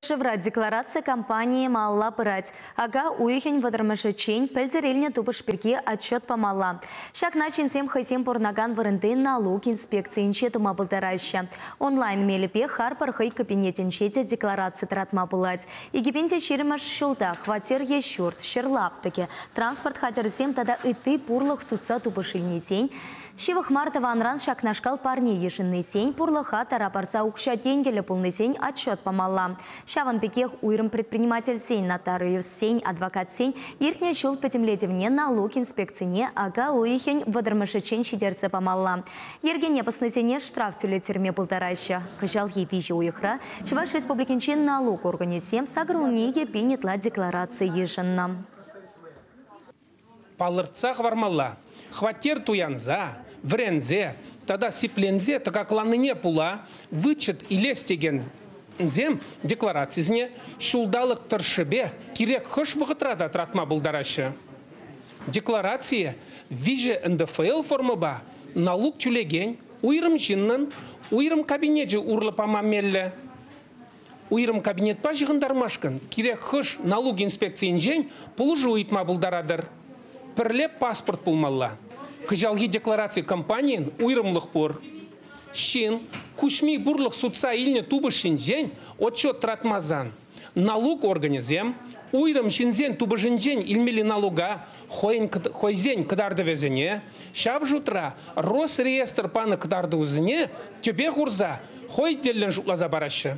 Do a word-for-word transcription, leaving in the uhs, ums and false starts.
Ҫӗршывра деклараци кампанийӗ малалла пырать. Ака уйӑхӗн вӑтӑрмӗшӗччен пӗлтӗр илнӗ тупӑш пирки отчет памалла. Ҫакна ҫынсем хӑйсем пурӑнакан вырӑнти налук инспекцийӗнче тума пултараҫҫӗ. Онлайн мелӗпе харпӑр хӑй кабинетӗнче те деклараци тӑратма пулать. Икӗ пин те ҫирӗммӗш ҫулта хваттер е ҫурт, ҫӗр лаптӑкӗ, транспорт хатӗрӗсем тата ытти пурлӑх сутса тупӑш илнисен, ҫывӑх мар тӑванран ҫакнашкал парне йышӑннисен, пурлӑха тара парса укҫа-тенкӗллӗ пулнисен отчет памалла. Ҫавӑн пекех уйрӑм предпринимательсен, нотариуссен, адвокатсен иртнӗ ҫул пӗтӗмлетӗвне налук инспекцине ака уйӑхӗн вӑтӑрмӗшӗччен ҫитерсе памалла. Йӗркене пӑснисене штраф тӳлеттерме пултараҫҫӗ. Кӑҫалхи виҫӗ уйӑхра Чӑваш Республикинчи налук органӗсем сакӑр вун икӗ пин ытла деклараци йышӑннӑ. Палӑртса хӑвармалла. Хваттер туянса, вӗренсе тата сипленсе тӑкакланнине пула вычет илес текенсем декларацисене ҫулталӑк тӑршшӗпе кирек хӑш вӑхӑтра та тӑратма пултараҫҫӗ. Декларацие виҫӗ эн дэ эф эл формӑпа налук тӳлекен уйрӑм ҫыннӑн уйрӑм кабинечӗ урлӑ пама меллӗ. Уйрӑм кабинетпа ҫыхӑнтармашкӑн кирек хӑш налук инспекцийӗнчен пулӑшу ыйтма пултаратӑр. Пӗрле паспорт пулмалла. Кӑҫалхи деклараци кампанийӗн уйрӑмлӑх пур. Ҫын куҫми пурлӑх сутса илнӗ тупӑш ҫинчен отчет тӑратмасан налук органӗсем уйрӑм ҫынсен тупӑшӗнчен илмелли налука хӑйӗн кӑт-, хӑйсен кӑтартӑвӗсене, ҫав шутра Росреестр панӑ кӑтартӑвӗсене тӗпе хурса хӑй тӗллӗн шутласа параҫҫӗ.